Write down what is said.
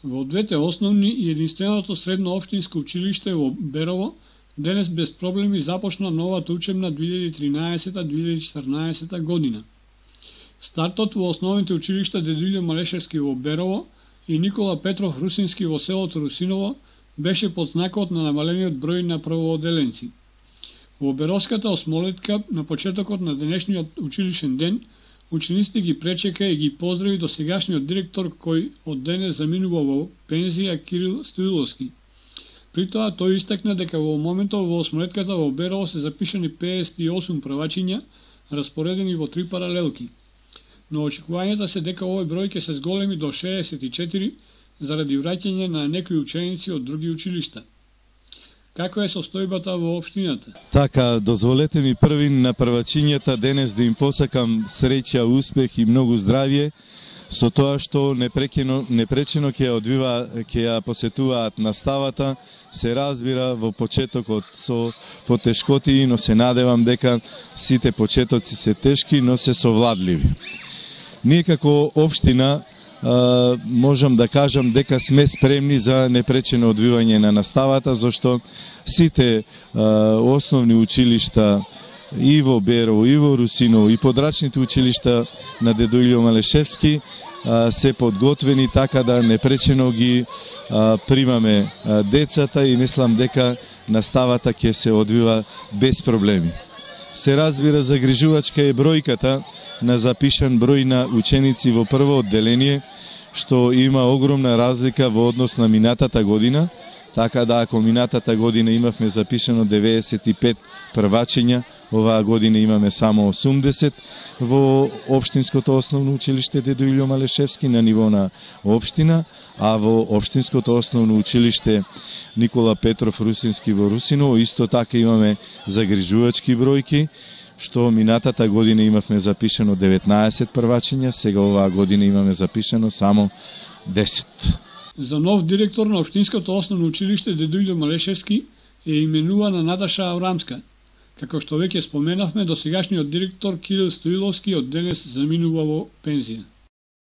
Во двете основни и единственото средно општинско училиште во Берово денес без проблеми започна новата учебна 2013-2014 година. Стартот во основните училишта Дедо Малешевски во Берово и Никола Петров Русински во селото Русиново беше под знакот на намалениот број на првооделенци. Во Беровската осмолетка на почетокот на денешниот училишен ден учениците ги пречека и ги поздрави досегашниот директор кој од денес заминува во пензија Кирил Стоиловски. При тоа тој истакна дека во моментот во осмолетката во Берово се запишани 58 првачиња распоредени во 3 паралелки. Но очекувањата се дека овој број ќе се зголеми до 64 заради враќање на некои ученици од други училишта. Каква е состојбата во општината? Така, дозволете ми први на првачињата денес да им посакам среќа, успех и многу здравје, со тоа што непречено ќе ја посетуваат наставата, се разбира во почетокот со потешкоти, но се надевам дека сите почетоци се тешки, но се совладливи. Ние како општина можам да кажам дека сме спремни за непречено одвивање на наставата, зашто сите основни училишта и во Берово, и во Русиново, и подрачните училишта на Дедо Илјо Малешевски се подготвени така да непречено ги примаме децата и мислам дека наставата ќе се одвива без проблеми. Се разбира, загрижувачка е бројката на запишан број на ученици во прво одделение, што има огромна разлика во однос на минатата година, така да ако минатата година имавме запишано 95 првачиња, оваа година имаме само 80 во општинското основно училиште Дедо Илјо Малешевски на ниво на општина, а во општинското основно училиште Никола Петров Русински во Русиново исто така имаме загрижувачки бројки, што минатата година имавме запишано 19 првачиња, сега оваа година имаме запишано само 10. За нов директор на општинското основно училиште Дедо Илјо Малешевски е именувана Наташа Аврамска. Како што веќе споменавме, досегашниот директор Кирил Стоиловски од денес заминува во пензија.